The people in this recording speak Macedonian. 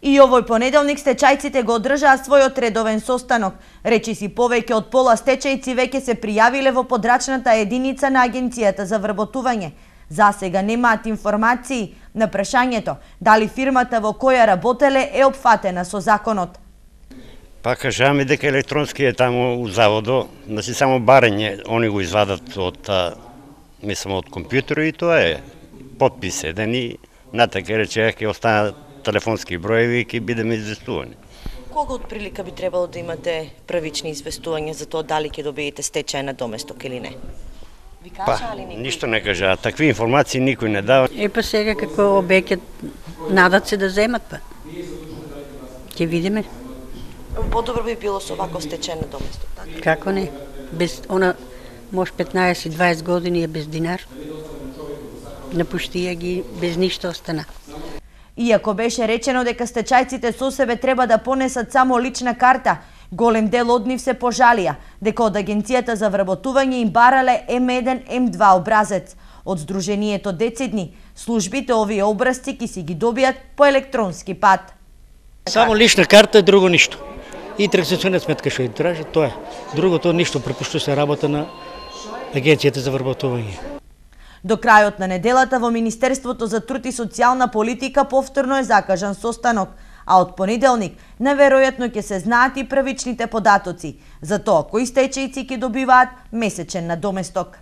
И овој понеделник стечајците го одржаа својот редовен состанок. Речиси повеќе од пола стечајци веќе се пријавиле во подрачната единица на Агенцијата за вработување. За сега немаат информации на прашањето дали фирмата во која работеле е опфатена со законот. Па кажаме дека електронски е таму у заводо, значи само барање, они го извадат од компјутер и тоа е подпис еден и натака речеа ќе останат телефонски броеви и ќе бидеме известувани. Кога од прилика би требало да имате првични известувања за тоа дали ќе добиете стечај на доместок или не? Ви кажа ли никој? Ништо не кажа, такви информации никој не дава. Па сега како обеќе надат се да земат па. Ќе видиме. Подобро би било со ваков стечај на доместок, така? Како не? Без она може 15-20 години е без динар. Напуштија ги без ништо остана. Иако беше речено дека стечајците со себе треба да понесат само лична карта, голем дел од нив се пожалија дека од Агенцијата за вработување им барале М1, М2 образец. Од Сдруженијето Децидни, службите овие образци ќе си ги добијат по електронски пат. Само лична карта, друго ништо. И трансакционна сметка што ја тражи, тоа е. Другото ништо препуштува се работа на Агенцијата за вработување. До крајот на неделата во Министерството за труд и социјална политика повторно е закажан состанок, а од понеделник наверојатно ќе се знаат и првичните податоци за тоа кои стечајци ќе добиваат месечен надоместок.